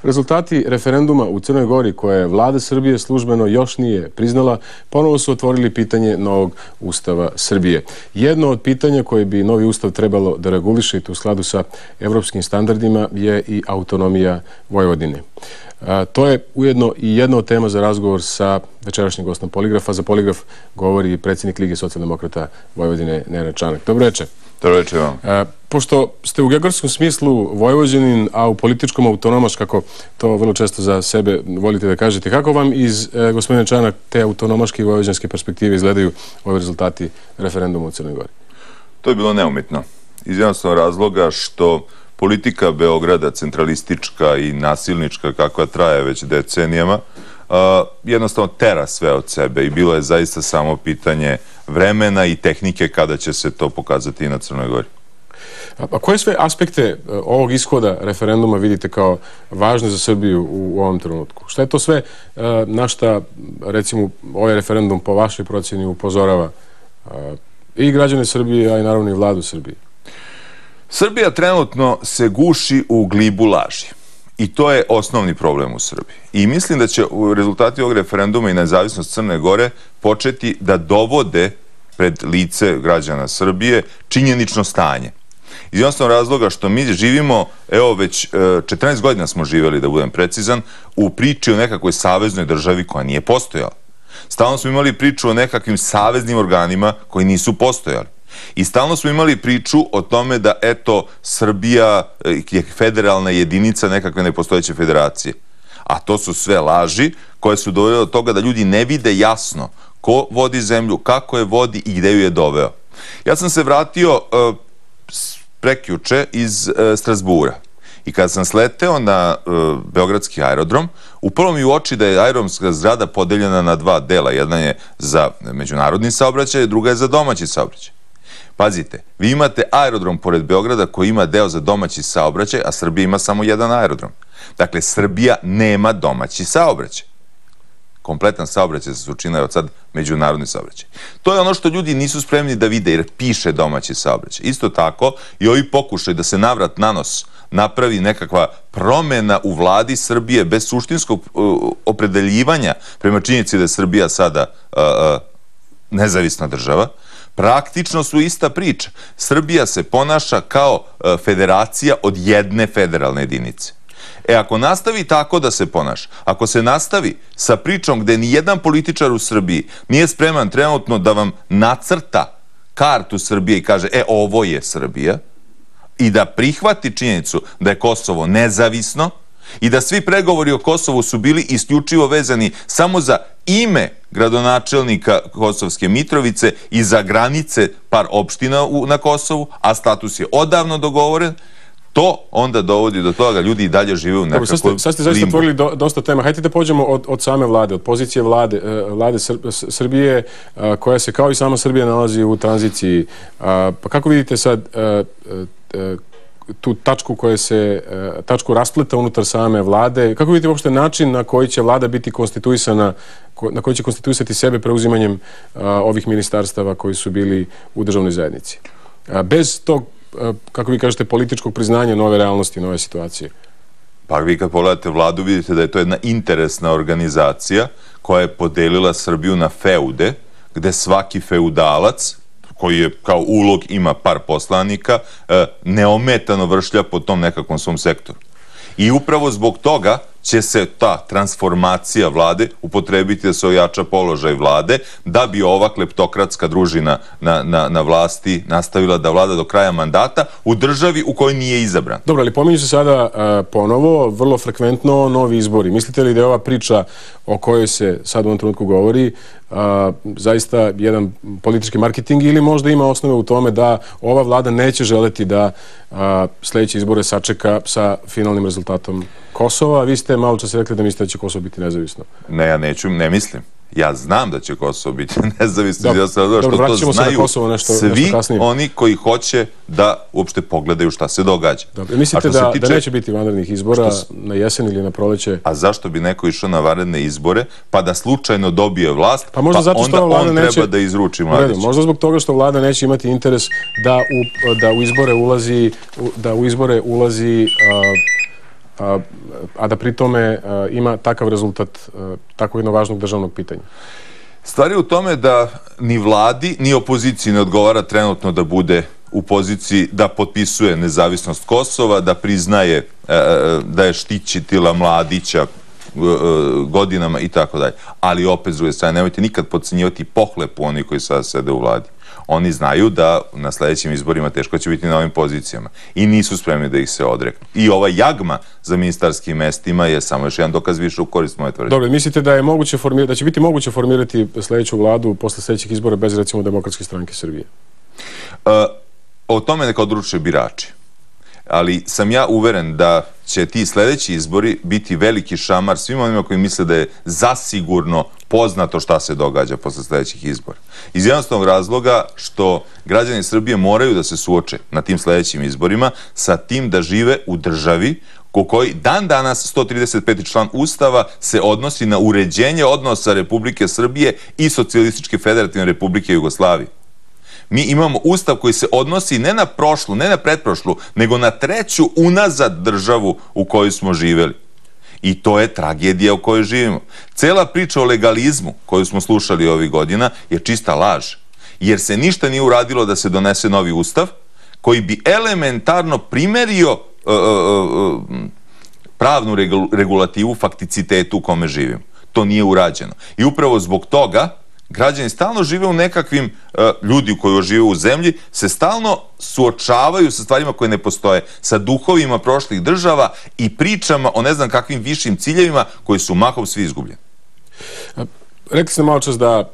Rezultati referenduma u Crnoj Gori koje vlada Srbije službeno još nije priznala, ponovo su otvorili pitanje novog Ustava Srbije. Jedno od pitanja koje bi novi Ustav trebalo da reguliše u skladu sa evropskim standardima je i autonomija Vojvodine. To je ujedno i jedna od tema za razgovor sa večerašnjim gostom Poligrafa. Za Poligraf govori predsjednik Lige socijaldemokrata Vojvodine Nenad Čanak. Dobro večer. Dobro večer vam. Pošto ste u geografskom smislu Vojvođanin, a u političkom autonomaš, kako to vrlo često za sebe volite da kažete, kako vam iz, gospodine Čanak, te autonomaške i vojvođanske perspektive izgledaju ovi rezultati referenduma u Crnoj Gori? To je bilo neumitno. Iz jednostavnog razloga što politika Beograda, centralistička i nasilnička, kakva traje već decenijama, jednostavno tera sve od sebe i bilo je zaista samo pitanje vremena i tehnike kada će se to pokazati i na Crnoj Gori. A koje sve aspekte ovog ishoda referenduma vidite kao važne za Srbiju u ovom trenutku? Šta je to sve na šta, recimo, ovaj referendum po vašoj procjeni upozorava i građane Srbije, a i naravno i vladu Srbije? Srbija trenutno se guši u glibu laži. I to je osnovni problem u Srbiji. I mislim da će u rezultati ovog referenduma i nezavisnost Crne Gore početi da dovode pred lice građana Srbije činjenično stanje. Iz jednostavnog razloga što mi živimo, evo već 14 godina smo živjeli, da budem precizan, u priči o nekakvoj saveznoj državi koja nije postojala. Stalno smo imali priču o nekakvim saveznim organima koji nisu postojali. I stalno smo imali priču o tome da, eto, Srbija je federalna jedinica nekakve nepostojeće federacije. A to su sve laži koje su dovele do toga da ljudi ne vide jasno ko vodi zemlju, kako je vodi i gde ju je doveo. Ja sam se vratio prekjuče iz Strazbura. I kada sam sleteo na beogradski aerodrom, upalo mi u oči da je aerodromska zgrada podeljena na dva dela. Jedna je za međunarodni saobraćaj, druga je za domaći saobraćaj. Pazite, vi imate aerodrom pored Beograda koji ima deo za domaći saobraćaj, a Srbija ima samo jedan aerodrom. Dakle, Srbija nema domaći saobraćaj. Kompletan saobraćaj se učinio od sad međunarodni saobraćaj. To je ono što ljudi nisu spremni da vide jer piše domaći saobraćaj. Isto tako i ovi pokušaj da se navrat na nos napravi nekakva promena u vladi Srbije bez suštinskog opredeljivanja prema činjenici da je Srbija sada nezavisna država, praktično su ista priča. Srbija se ponaša kao federacija od jedne federalne jedinice. Ako nastavi tako da se ponaša, ako se nastavi sa pričom gde ni jedan političar u Srbiji nije spreman trenutno da vam nacrta kartu Srbije i kaže, ovo je Srbija, i da prihvati činjenicu da je Kosovo nezavisno i da svi pregovori o Kosovu su bili isključivo vezani samo za ime gradonačelnika Kosovske Mitrovice i za granice par opština na Kosovu, a status je odavno dogovoren, to onda dovodi do toga da ljudi i dalje žive u nekakvom limbu. Sad ste zaista otvorili dosta tema. Hajde da pođemo od same vlade, od pozicije vlade Srbije, koja se kao i sama Srbija nalazi u tranziciji. Pa kako vidite sad tu tačku raspleta unutar same vlade? Kako vidite uopšte način na koji će vlada biti konstituisana, na koji će konstituisati sebe preuzimanjem ovih ministarstava koji su bili u državnoj zajednici? Bez tog, kako vi kažete, političkog priznanja nove realnosti, nove situacije. Pa vi kad pogledate vladu vidite da je to jedna interesna organizacija koja je podelila Srbiju na feude, gde svaki feudalac, koji je kao ulog ima par poslanika, neometano vršlja po tom nekakvom svom sektoru. I upravo zbog toga će se ta transformacija vlade upotrebiti da se ojača položaj vlade, da bi ova kleptokratska družina na vlasti nastavila da vlada do kraja mandata u državi u kojoj nije izabran. Dobro, ali pominju se sada ponovo, vrlo frekventno, novi izbori. Mislite li da je ova priča o kojoj se sad u ovom trenutku govori zaista jedan politički marketing ili možda ima osnove u tome da ova vlada neće želeti da sledeće izbore sačeka sa finalnim rezultatom Kosova? Vi ste malo čas rekli da mislite da će Kosovo biti nezavisno. Ne, ja ne mislim. Ja znam da će Kosovo biti nezavisno. Dobro, vratit ćemo se na Kosovo nešto kasnije. Svi oni koji hoće da uopšte pogledaju šta se događa. Mislite da neće biti vanrednih izbora na jesen ili na proleće? A zašto bi neko išao na vanredne izbore pa da slučajno dobije vlast, pa onda on treba da izruči Mladića? Možda zbog toga što vlada neće imati interes da u izbore ulazi a da pri tome ima takav rezultat tako jednog važnog državnog pitanja? Stvar je u tome da ni vladi, ni opoziciji ne odgovara trenutno da bude u poziciji da potpisuje nezavisnost Kosova, da priznaje da je štićitila Mladića godinama i tako dalje. Ali opet, s druge strane, nemojte nikad podcenjivati pohlepu oni koji sada sede u vladi. Oni znaju da na sledećim izborima teško će biti na ovim pozicijama i nisu spremni da ih se odreknu. I ova jagma za ministarskim mestima je samo još jedan dokaz više u korist moje tvrdnje. Dobro, mislite da je moguće da će biti moguće formirati sledeću vladu posle sledećih izbora bez, recimo, Demokratske stranke Srbije? O tome neka odluče birači. Ali sam ja uveren da će ti sledeći izbori biti veliki šamar svima onima koji misle da je zasigurno poznato šta se događa posle sledećih izbora. Iz jednostavnog razloga što građani Srbije moraju da se suoče na tim sledećim izborima sa tim da žive u državi u kojoj dan danas 135. član Ustava se odnosi na uređenje odnosa Republike Srbije i Socijalističke federativne Republike Jugoslavije. Mi imamo ustav koji se odnosi ne na prošlu, ne na pretprošlu, nego na treću unazad državu u kojoj smo živeli. I to je tragedija u kojoj živimo. Cela priča o legalizmu koju smo slušali ovih godina je čista laž. Jer se ništa nije uradilo da se donese novi ustav koji bi elementarno primerio pravnu regulativu fakticitetu u kome živimo. To nije urađeno. I upravo zbog toga građani stalno žive u nekakvim, ljudi koji žive u zemlji, se stalno suočavaju sa stvarima koje ne postoje, sa duhovima prošlih država i pričama o ne znam kakvim višim ciljevima koji su mahom svi izgubljeni. Rekli ste malo čas da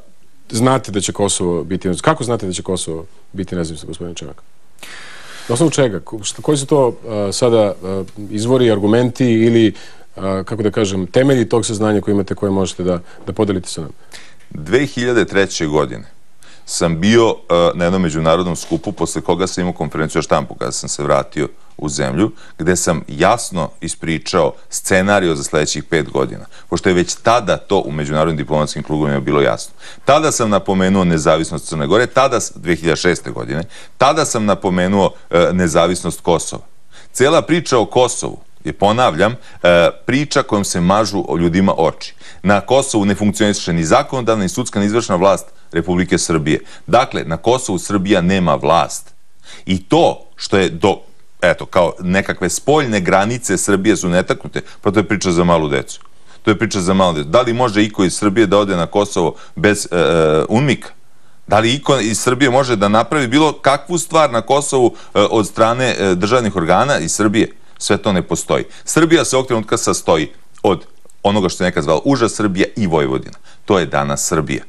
znate da će Kosovo biti nezavisno. Kako znate da će Kosovo biti nezavisno, gospodine Čanak? Na osnovu čega? Koji su to sada izvori, argumenti ili, kako da kažem, temelji tog saznanja koje imate, koje možete da podelite sa nama? 2003. godine sam bio na jednom međunarodnom skupu posle koga sam imao konferenciju o štampu kada sam se vratio u zemlju, gde sam jasno ispričao scenario za sledećih 5 godina, pošto je već tada to u međunarodnim diplomatskim krugovima bilo jasno. Tada sam napomenuo nezavisnost Crne Gore, 2006. godine, tada sam napomenuo nezavisnost Kosova. Cela priča o Kosovu je, ponavljam, priča kojom se mažu ljudima oči. Na Kosovu ne funkcioniše ni zakonodavna, ni sudska, ni izvršna vlast Republike Srbije. Dakle, na Kosovu Srbija nema vlast. I to što je kao nekakve spoljne granice Srbije su netaknute, pa to je priča za malu decu. To je priča za malu decu. Da li može iko iz Srbije da ode na Kosovo bez UNMIK-a? Da li iko iz Srbije može da napravi bilo kakvu stvar na Kosovu od strane državnih organa iz Srbije? Sve to ne postoji. Srbija se ovog trenutka sastoji od onoga što se nekad zvalo uža Srbija i Vojvodina. To je danas Srbija.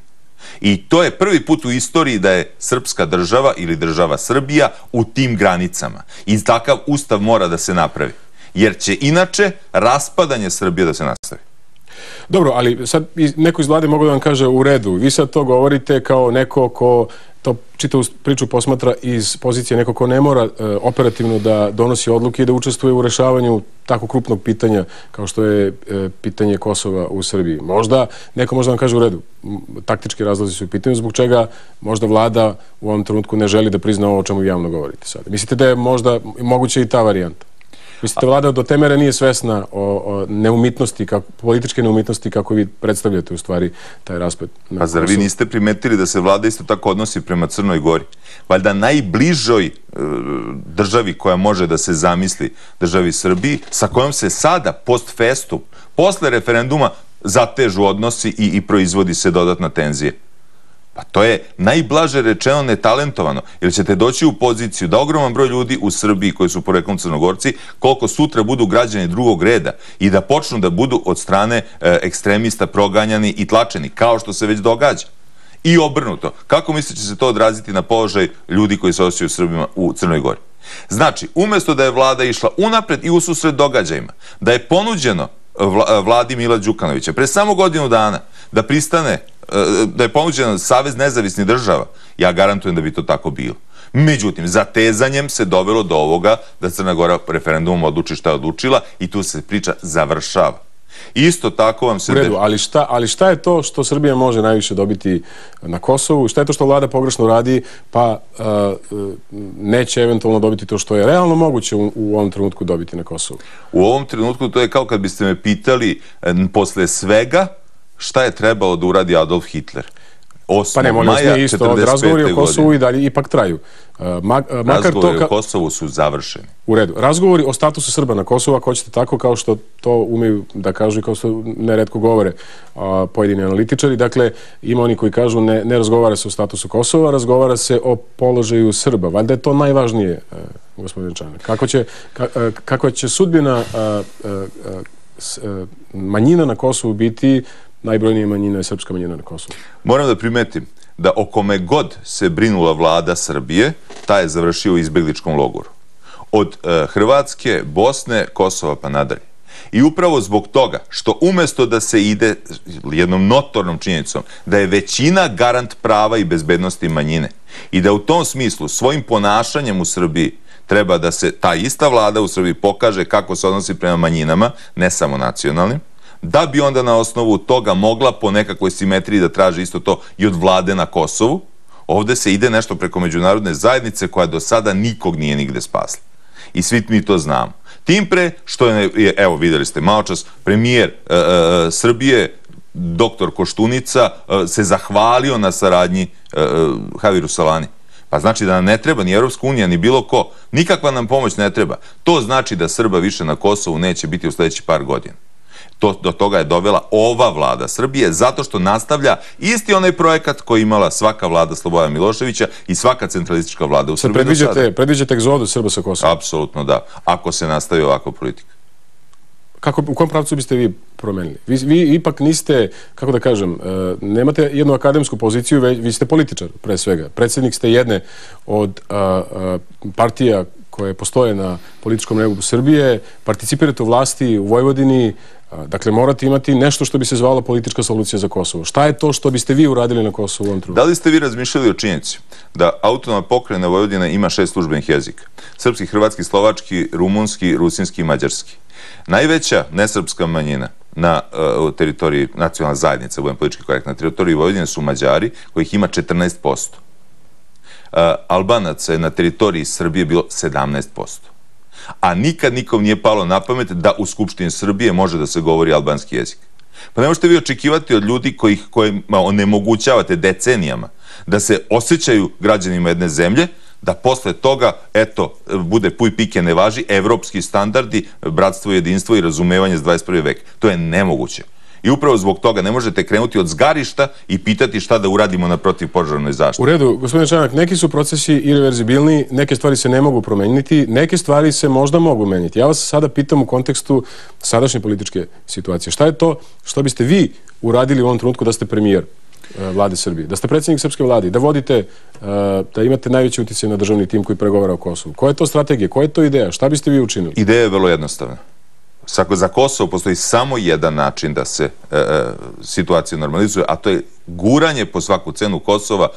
I to je prvi put u istoriji da je srpska država ili država Srbija u tim granicama. I takav ustav mora da se napravi. Jer će inače raspadanje Srbije da se nastavi. Dobro, ali sad neko iz vlade mogu da vam kaže u redu. Vi sad to govorite kao neko ko to čitavu priču posmatra iz pozicije neko ko ne mora operativno da donosi odluke i da učestvuje u rešavanju tako krupnog pitanja kao što je pitanje Kosova u Srbiji. Možda neko možda vam kaže u redu, taktički razlozi su u pitanju, zbog čega možda vlada u ovom trenutku ne želi da prizna ovo o čemu javno govorite sada. Mislite da je možda moguće i ta varijanta? Mislite, vlada do te mere nije svesna o neumitnosti, političke neumitnosti kako vi predstavljate u stvari taj raspad? A zar vi niste primetili da se vlada isto tako odnosi prema Crnoj Gori? Valjda najbližoj državi koja može da se zamisli, državi Srbiji, sa kojom se sada post festum, posle referenduma, zatežu odnosi i proizvodi se dodatna tenzija. Pa to je najblaže rečeno netalentovano, jer ćete doći u poziciju da ogroman broj ljudi u Srbiji koji su poreklom Crnogorci, koliko sutra budu građani drugog reda i da počnu da budu od strane ekstremista proganjani i tlačeni, kao što se već događa. I obrnuto. Kako mislite će se to odraziti na položaj ljudi koji se osjećaju Srbima u Crnoj Gori? Znači, umesto da je vlada išla unapred i ususret događajima, da je ponuđeno vladi Mila Đukanovića pre samo godinu dana da pristane, da je ponuđen Savez nezavisnih država, ja garantujem da bi to tako bilo. Međutim, zatezanjem se dovelo do ovoga da Crna Gora referendumom odluči šta je odlučila i tu se priča završava. Isto tako vam se... U redu, ali šta je to što Srbija može najviše dobiti na Kosovu? Šta je to što vlada pogrešno radi, pa neće eventualno dobiti to što je realno moguće u ovom trenutku dobiti na Kosovu? U ovom trenutku to je kao kad biste me pitali posle svega šta je trebalo da uradi Adolf Hitler. Pa ne, molim vas, nije isto. Razgovori o Kosovu i dalje ipak traju. Razgovori o Kosovu su završeni. U redu. Razgovori o statusu Srba na Kosovu, ako hoćete tako, kao što to umeju da kažu i kao što neretko govore pojedini analitičari. Dakle, ima oni koji kažu ne razgovara se o statusu Kosova, razgovara se o položaju Srba. Valjda je to najvažnije, gospodin Čanak. Kakva će sudbina manjina na Kosovu biti? Najbrojnija manjina je srpska manjina na Kosovu. Moram da primetim da o kome god se brinula vlada Srbije, ta je završio u izbegličkom logoru. Od Hrvatske, Bosne, Kosova pa nadalje. I upravo zbog toga što umesto da se ide jednom notornom činjenicom da je većina garant prava i bezbednosti manjine i da u tom smislu svojim ponašanjem u Srbiji treba da se ta ista vlada u Srbiji pokaže kako se odnosi prema manjinama, ne samo nacionalnim, da bi onda na osnovu toga mogla po nekakvoj simetriji da traži isto to i od vlade na Kosovu. Ovde se ide nešto preko međunarodne zajednice koja do sada nikog nije nigde spasla. I svi mi to znamo. Tim pre što je, evo videli ste maločas, premijer Srbije, doktor Koštunica, se zahvalio na saradnji Javiru Solani. Pa znači da nam ne treba ni Evropska unija, ni bilo ko. Nikakva nam pomoć ne treba. To znači da Srba više na Kosovu neće biti u sledećih par godina. Do toga je dovela ova vlada Srbije zato što nastavlja isti onaj projekat koji imala svaka vlada Slobodana Miloševića i svaka centralistička vlada u Srbiji do sada. Predviđate egzodu Srba sa Kosova? Apsolutno da, ako se nastavi ovakva politika. U kom pravcu biste vi promenili? Vi ipak niste, kako da kažem, nemate jednu akademsku poziciju, vi ste političar pre svega. Predsjednik ste jedne od partija koje postoje na političkom nebu Srbije, participirate u vlasti u Vojvodini, dakle morate imati nešto što bi se zvalo politička solucija za Kosovo. Šta je to što biste vi uradili na Kosovu u ovom trenutku? Da li ste vi razmišljali o činjenici da autonomna pokrajina Vojvodina ima 6 službenih jezika? Srpski, hrvatski, slovački, rumunski, rusinski i mađarski. Najveća nesrpska manjina na teritoriji nacionalne zajednice, budem politički korekt, na teritoriji Vojvodine su Mađari, kojih ima 14%. Albanaca je na teritoriji Srbije bilo 17%. A nikad nikom nije palo na pamet da u Skupštini Srbije može da se govori albanski jezik. Pa ne možete vi očekivati od ljudi kojima onemogućavate decenijama da se osjećaju građanima jedne zemlje, da posle toga, eto, bude puj pike ne važi, evropski standardi, bratstvo, jedinstvo i razumevanje za 21. vek. To je nemoguće. I upravo zbog toga ne možete krenuti od zgarišta i pitati šta da uradimo na protivpožarnoj zaštiti. U redu, gospodine Čanak, neki su procesi irreverzibilni, neke stvari se ne mogu promeniti, neke stvari se možda mogu menjati. Ja vas sada pitam u kontekstu sadašnje političke situacije. Šta je to što biste vi uradili u ovom trenutku da ste premijer vlade Srbije, da ste predsjednik srpske vlade, da vodite, da imate najveći utjecaj na državni tim koji pregovara o Kosovu? Koja je to strategija? Koja je to ideja? Šta biste vi učinili? Ideja je vrlo jednostavna. Za Kosovo postoji samo jedan način da se situacija normalizuje, a to je guranje po svaku cenu Kosova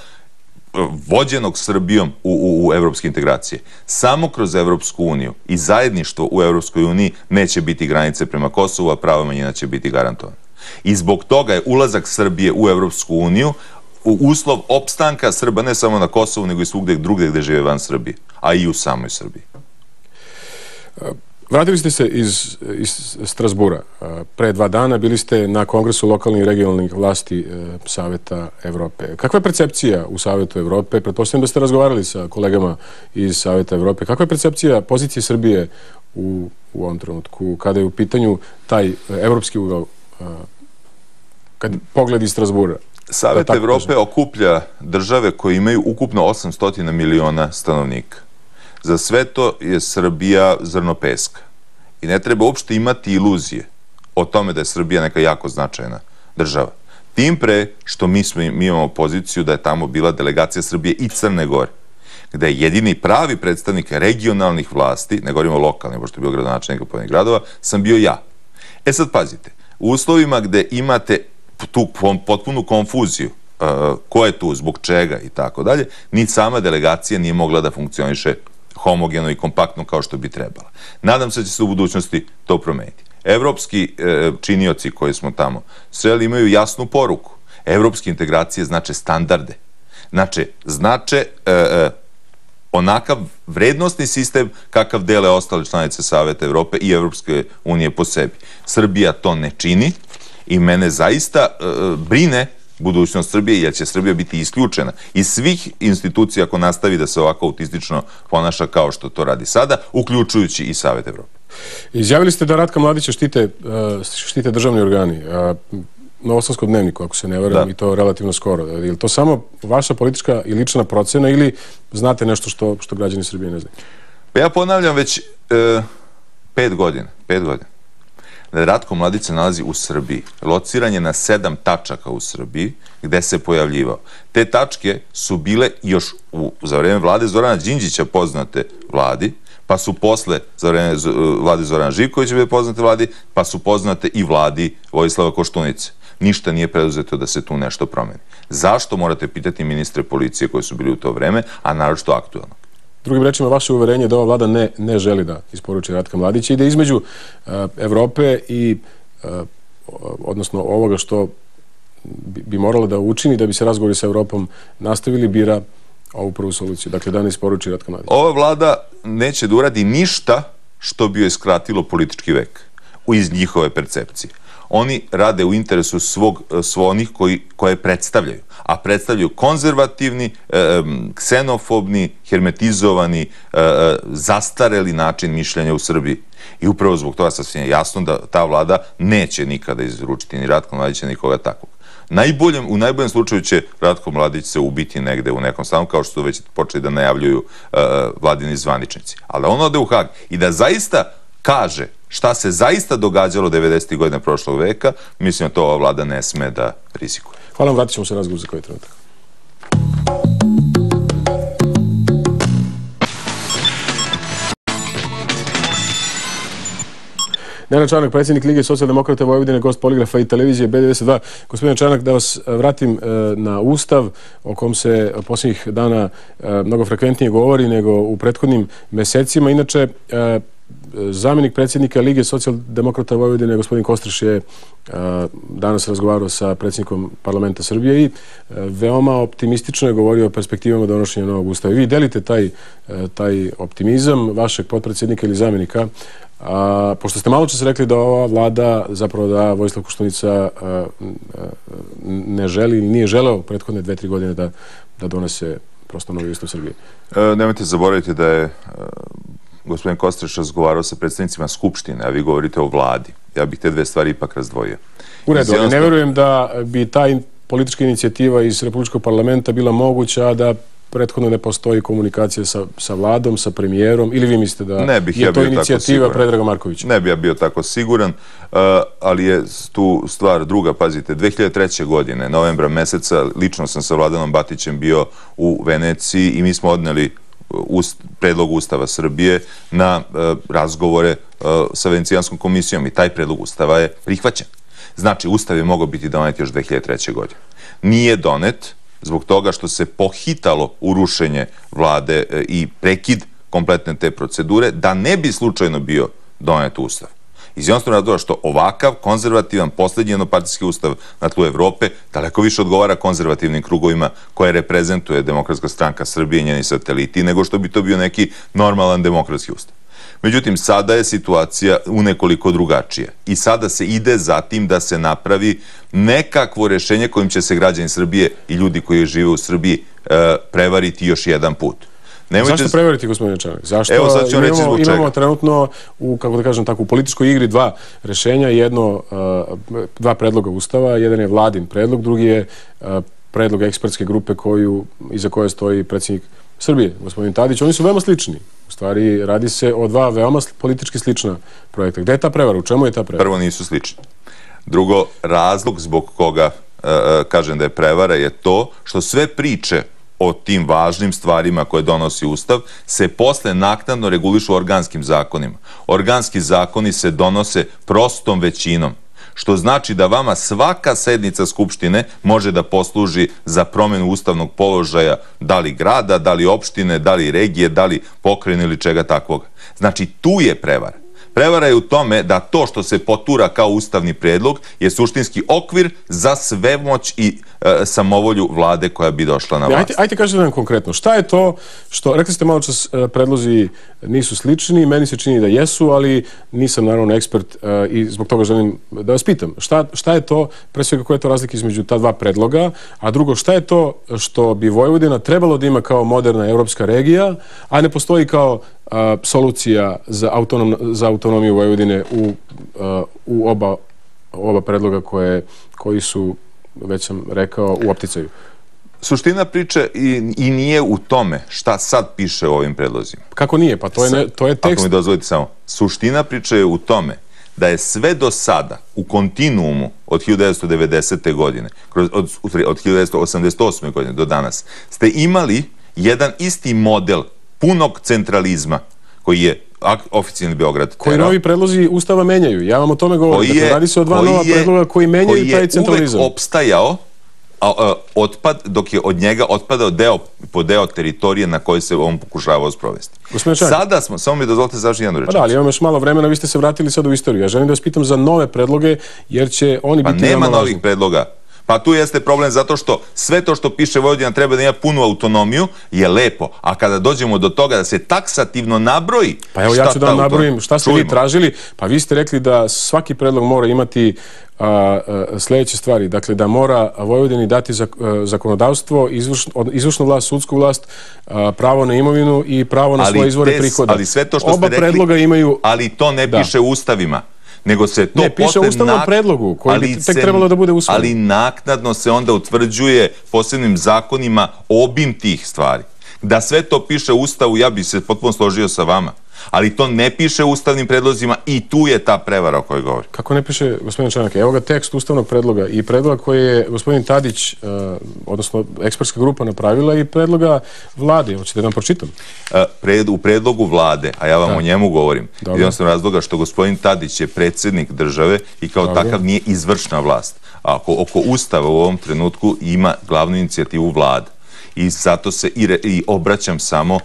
vođenog Srbijom u evropske integracije. Samo kroz Evropsku uniju i zajedništvo u Evropskoj uniji neće biti granice prema Kosovu, a prava manjina će biti garantovana. I zbog toga je ulazak Srbije u Evropsku uniju uslov opstanka Srba ne samo na Kosovu, nego i svugde drugde gde žive van Srbije, a i u samoj Srbiji. Vratili ste se iz Strasbura. Pre 2 dana bili ste na Kongresu lokalnih i regionalnih vlasti Saveta Evrope. Kakva je percepcija u Savetu Evrope? Pretpostavljam da ste razgovarali sa kolegama iz Saveta Evrope. Kakva je percepcija pozicije Srbije u ovom trenutku, kada je u pitanju taj evropski ugao, kad pogled iz Strasbura? Savet Evrope okuplja države koje imaju ukupno 800 miliona stanovnika. Za sve to je Srbija zrno peska. I ne treba uopšte imati iluzije o tome da je Srbija neka jako značajna država. Tim pre što mi imamo poziciju da je tamo bila delegacija Srbije i Crne Gore, gde je jedini pravi predstavnik regionalnih vlasti, ne govorimo o lokalnim, pošto je bio gradonačelnik pojedinih gradova, sam bio ja. E sad pazite, u uslovima gde imate tu potpunu konfuziju, ko je tu, zbog čega i tako dalje, ni sama delegacija nije mogla da funkcioniše homogeno i kompaktno kao što bi trebala. Nadam se da će se u budućnosti to promeniti. evropski činioci koji smo tamo sreli imaju jasnu poruku. Evropske integracije znače standarde. Znače onakav vrednostni sistem kakav dele ostale članice Saveta Evrope i Evropske unije po sebi. Srbija to ne čini i mene zaista brine budućnost Srbije, jer će Srbija biti isključena iz svih institucija ako nastavi da se ovako autistično ponaša kao što to radi sada, uključujući i Savet Evrope. Izjavili ste da Ratka Mladića štite državni organi. Novosadskom dnevniku, ako se ne varam, i to relativno skoro. Je li to samo vaša politička i lična procena ili znate nešto što građani Srbije ne znaju? Pa ja ponavljam već 5 godina, da Ratko Mladić se nalazi u Srbiji. Lociran je na 7 tačaka u Srbiji gde se pojavljivao. Te tačke su bile još za vreme vlade Zorana Đinđića poznate vladi, pa su posle za vreme vlade Zorana Živkovića bile poznate vladi, pa su poznate i vladi Vojislava Koštunice. Ništa nije preduzeto da se tu nešto promeni. Zašto morate pitati ministre policije koji su bili u to vreme, a naročito aktualno? Drugim rečima, vaše uverenje je da ova vlada ne želi da isporuči Ratka Mladića i da između Evrope i, odnosno ovoga što bi moralo da učini da bi se razgovori sa Evropom nastavili, bira ovu prvu soluciju. Dakle, da ne isporuči Ratka Mladića. Ova vlada neće da uradi ništa što bi joj skratilo politički vek iz njihove percepcije. Oni rade u interesu onih koje predstavljaju, a predstavljaju konzervativni, ksenofobni, hermetizovani, zastareli način mišljenja u Srbiji. I upravo zbog toga sasvim je jasno da ta vlada neće nikada izručiti ni Ratka Mladića, nikoga takvog. U najboljem slučaju će Ratko Mladić se ubiti negde u nekom stanu, kao što su već počeli da najavljuju vladini zvaničnici. Ali on ode u Hag i da zaista kaže šta se zaista događalo 90. godina prošlog veka, mislim da to ova vlada ne sme da rizikuje. Hvala vam, vratit ćemo se razgovor za koji trenutak. Nenad Čanak, predsjednik Lige socijaldemokrata Vojvodine, gost Poligrafa i televizije B92. Gospodine Čanak, da vas vratim na Ustav o kom se posljednjih dana mnogo frekventnije govori nego u prethodnim mesecima. Inače, zamjenik predsjednika Lige socijaldemokrata Vojvodine, gospodin Kostreš, je danas razgovarao sa predsjednikom parlamenta Srbije i veoma optimistično je govorio o perspektivama donošenja novog ustava. Vi delite taj optimizam vašeg potpredsjednika ili zamjenika, pošto ste malo čas rekli da ova vlada, zapravo da Vojislav Koštunica ne želi ili nije želeo prethodne 2-3 godine da donese prosto novi ustav Srbije. Nemojte zaboraviti da je gospodin Kostreš razgovarao sa predstavnicima Skupštine, a vi govorite o vladi. Ja bih te dve stvari ipak razdvojio. U redu, ali ne verujem da bi ta politička inicijativa iz Republičkog parlamenta bila moguća, a da prethodno ne postoji komunikacija sa vladom, sa premijerom, ili vi mislite da je to inicijativa Predraga Markovića? Ne bi ja bio tako siguran, ali je tu stvar druga. Pazite, 2003. godine, novembra meseca, lično sam sa Vladanom Batićem bio u Veneciji i mi smo odneli predlog Ustava Srbije na razgovore sa Venecijanskom komisijom i taj predlog Ustava je prihvaćen. Znači, Ustav je mogao biti donet još 2003. godine. Nije donet zbog toga što se pohitalo u rušenje vlade i prekid kompletne te procedure, da ne bi slučajno bio donet Ustav. Iz jednostavnog razloga što ovakav konzervativan, poslednji jednopartijski ustav na tlu Evrope daleko više odgovara konzervativnim krugovima koje reprezentuje Demokratska stranka Srbije i njeni sateliti, nego što bi to bio neki normalan demokratski ustav. Međutim, sada je situacija unekoliko drugačija i sada se ide za tim da se napravi nekakvo rešenje kojim će se građani Srbije i ljudi koji žive u Srbiji prevariti još jedan put. Zašto prevariti, gospodine Čanak? Zašto imamo trenutno kako da kažem tako, u političkoj igri dva rešenja, dva predloga Ustava, jedan je vladin predlog, drugi je predlog ekspertske grupe iza koje stoji predsjednik Srbije, gospodin Tadić. Oni su veoma slični. U stvari, radi se o dva veoma politički slična projekta. Gde je ta prevara? U čemu je ta prevara? Prvo, nisu slični. Drugo, razlog zbog koga kažem da je prevara je to što sve priče o tim važnim stvarima koje donosi Ustav se posle naknadno regulišu organskim zakonima. Organski zakoni se donose prostom većinom, što znači da vama svaka sednica Skupštine može da posluži za promenu ustavnog položaja da li grada, da li opštine, da li regije, da li pokrajine ili čega takvog. Znači, tu je prevara. Prevara je u tome da to što se potura kao ustavni predlog je suštinski okvir za svemoć i samovolju vlade koja bi došla na vlast. Ajde kažete nam konkretno, šta je to što, rekli ste malo čas, predlozi nisu slični, meni se čini da jesu, ali nisam naravno ekspert i zbog toga želim da vas pitam. Šta je to, pre svega koja je to razlika između ta dva predloga, a drugo, šta je to što bi Vojvodina trebalo da ima kao moderna evropska regija, a ne postoji kao solucija za autonomiju Vojvodine u oba predloga koji su, već sam rekao, u opticaju? Suština priče i nije u tome šta sad piše u ovim predlozima. Kako nije? Pa to je tekst. Ako mi dozvolite samo. Suština priče je u tome da je sve do sada u kontinuumu od 1990. godine, od 1988. godine do danas, ste imali jedan isti model punog centralizma koji je oficijalni Beograd terao. Koji novi predlozi Ustava menjaju. Ja vam o tome govorim. Dakle, radi se o dva nova predloga koji menjaju taj centralizam. Koji je uvek opstajao otpad, dok je od njega otpadao deo po deo teritorije na koje se on pokušavao sprovesti. Sada smo, samo mi dozvolite završiti jednu rečenicu. Pa da, ali imam još malo vremena, vi ste se vratili sad u istoriju. Ja želim da vas pitam za nove predloge, jer će oni biti... Pa nema novih predloga. Pa tu jeste problem zato što sve to što piše Vojvodina treba da ima punu autonomiju je lepo, a kada dođemo do toga da se taksativno nabroji... Pa evo ja ću da vam nabrojim šta ste vi tražili. Pa vi ste rekli da svaki predlog mora imati sljedeće stvari. Dakle, da mora Vojvodini dati zakonodavstvo, izvršnu vlast, sudsku vlast, pravo na imovinu i pravo na svoje izvore prihoda. Ali sve to što ste rekli... Oba predloga imaju... Ali to ne piše u ustavima. Nego se to ne, piše u ustavnom predlogu koji bi tek trebalo da bude usvojen. Ali naknadno se onda utvrđuje posebnim zakonima obim tih stvari. Da sve to piše u Ustavu, ja bih se potpuno složio sa vama. Ali to ne piše u ustavnim predlozima i tu je ta prevara o kojoj govori. Kako ne piše, gospodin Čanak? Evo ga tekst ustavnog predloga i predloga koji je gospodin Tadić, odnosno ekspertska grupa napravila i predloga vlade. Hoćete da vam pročitam? U predlogu vlade, a ja vam o njemu govorim, jednostavno razloga što gospodin Tadić je predsjednik države i kao takav nije izvršna vlast. A oko Ustava u ovom trenutku ima glavnu inicijativu vlada. I zato se i obraćam samo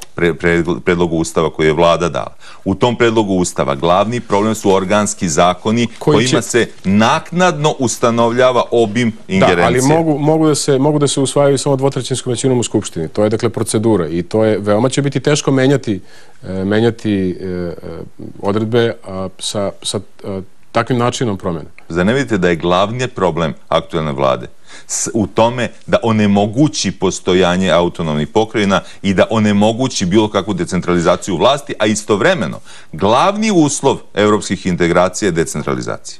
predlogu Ustava koji je vlada dala. U tom predlogu Ustava glavni problem su organski zakoni kojima se naknadno ustanovljava obim ingerencije. Da, ali mogu da se usvajaju samo dvotrećinskom većinom u Skupštini. To je dakle procedura i to je, veoma će biti teško menjati odredbe sa takvim načinom promjene. Zar ne vidite da je glavni problem aktuelne vlade u tome da onemogući postojanje autonomnih pokrajina i da onemogući bilo kakvu decentralizaciju vlasti, a istovremeno glavni uslov evropskih integracija je decentralizacija.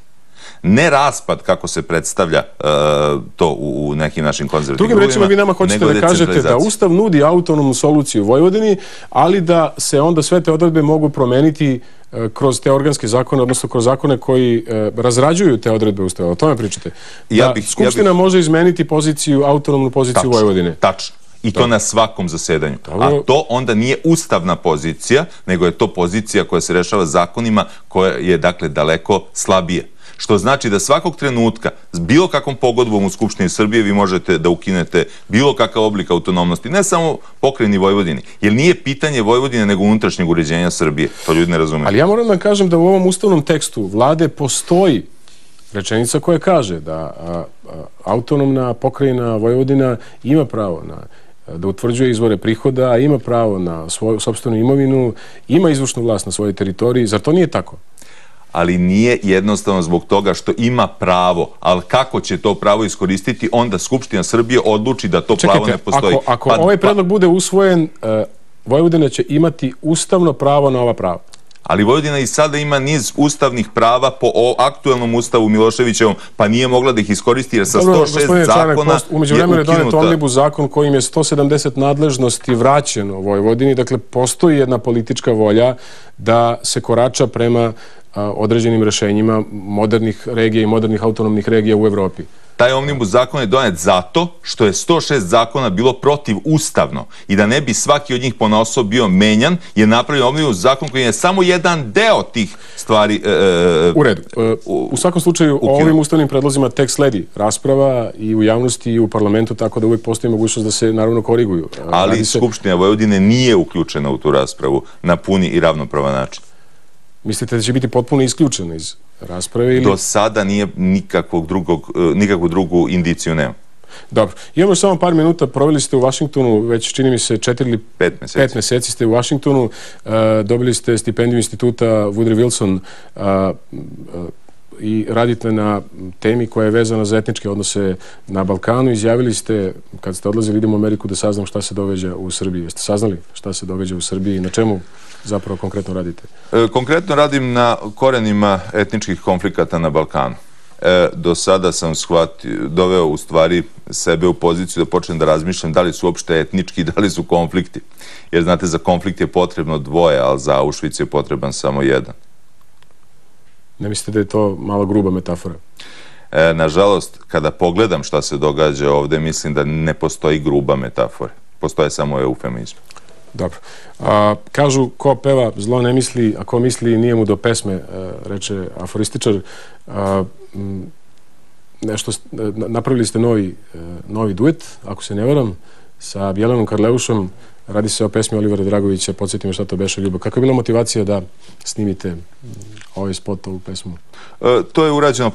Ne raspad kako se predstavlja to u nekim našim konzervativnim drugim rečima, vi nama hoćete da kažete da Ustav nudi autonomnu soluciju u Vojvodini, ali da se onda sve te odredbe mogu promeniti kroz te organske zakone, odnosno kroz zakone koji razrađuju te odredbe Ustava. O tome pričate. Da Skupština može izmeniti autonomnu poziciju Vojvodine. Tačno. I to na svakom zasedanju. A to onda nije ustavna pozicija, nego je to pozicija koja se rešava zakonima koja je, dakle, daleko slabije. Što znači da svakog trenutka s bilo kakvom pogodbom u Skupštini Srbije vi možete da ukinete bilo kakav oblik autonomnosti, ne samo pokrajini Vojvodini, jer nije pitanje Vojvodine nego unutrašnjeg uređenja Srbije. To ljudi ne razumeju. Ali ja moram da kažem da u ovom ustavnom tekstu vlade postoji rečenica koja kaže da autonomna pokrajina Vojvodina ima pravo da utvrđuje izvore prihoda, ima pravo na svoju sopstvenu imovinu, ima izvršnu vlast na svojoj teritoriji. Zar to nije tako? Ali nije jednostavno zbog toga što ima pravo, ali kako će to pravo iskoristiti, onda Skupština Srbije odluči da to pravo ne postoji. Ako ovaj predlog bude usvojen, Vojvodina će imati ustavno pravo na ova prava. Ali Vojvodina i sada ima niz ustavnih prava po aktuelnom ustavu Miloševićevom, pa nije mogla da ih iskoristi jer sa 106 zakona umeđu vremenu je donet Omnibus zakon kojim je 170 nadležnosti vraćeno Vojvodini. Dakle, postoji jedna politička volja da se korača prema određenim rešenjima modernih regija i modernih autonomnih regija u Evropi. Taj omnibus zakon je donet zato što je 106 zakona bilo protivustavno i da ne bi svaki od njih ponaosob bio menjan, je napravio omnibus zakon koji je samo jedan deo tih stvari u redu. U svakom slučaju, o ovim ustavnim predlozima tek sledi rasprava i u javnosti i u parlamentu, tako da uvijek postoji mogućnost da se naravno koriguju. Ali Skupština Vojvodine nije uključena u tu raspravu na puni i ravnopravan način. Mislite da će biti potpuno isključena iz rasprave? Do sada nije nikakvu drugu indiciju nema. Dobro. Imamo samo par minuta. Proveli ste u Vašingtonu, već čini mi se 4 ili 5 meseci ste u Vašingtonu. Dobili ste stipendiju instituta Woodrow Wilson i radite na temi koja je vezana za etničke odnose na Balkanu. Izjavili ste, kad ste odlazili, idemo u Ameriku da saznam šta se događa u Srbiji. Jeste saznali šta se događa u Srbiji i na čemu zapravo konkretno radite? Konkretno radim na korenima etničkih konflikata na Balkanu. Do sada sam doveo u stvari sebe u poziciju da počnem da razmišljam da li su uopšte etnički, da li su konflikti. Jer znate, za konflikt je potrebno dvoje, ali za Auschwitz je potreban samo jedan. Ne mislite da je to malo gruba metafora? Nažalost, kada pogledam šta se događa ovde, mislim da ne postoji gruba metafora. Postoje samo eufemizmi. Dobro. Kažu, ko peva zlo ne misli, a ko misli nije mu do pesme, reče aforističar. Napravili ste novi duet, ako se ne varam, sa Bjelanom Karleušom. Radi se o pesmi Olivera Dragovića, podsjeti me šta to beše, Ljubav. Kako je bila motivacija da snimite ovaj spot, ovu pesmu? To je urađeno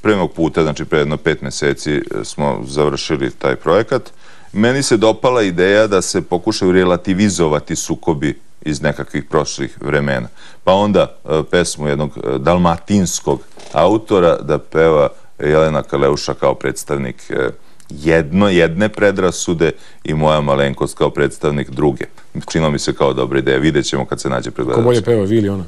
pre mog puta, znači pre jedno 5 meseci smo završili taj projekat. Meni se dopala ideja da se pokušaju relativizovati sukobi iz nekakvih prošlih vremena. Pa onda pesmu jednog dalmatinskog autora da peva Jelena Karleuša kao predstavnik jedne predrasude i moja malenkost kao predstavnik druge. Činilo mi se kao dobra ideja. Vidjet ćemo kad se nađe pred gledalcem. Ko bolje peva, vi ili ona?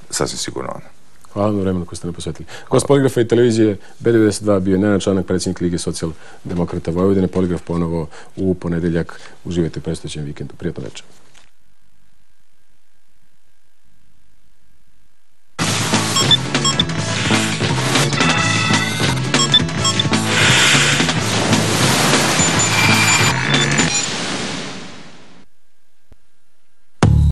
Sasvim sigurno ona. Hvala na vremenu koje ste nam posvetili. Gost Poligrafa i televizije B92 bio je Nenad Čanak, predsjednik Lige socijaldemokrata Vojvodine. Poligraf ponovo u ponedeljak. Uživajte u predstojećem vikendu. Prijatno večer.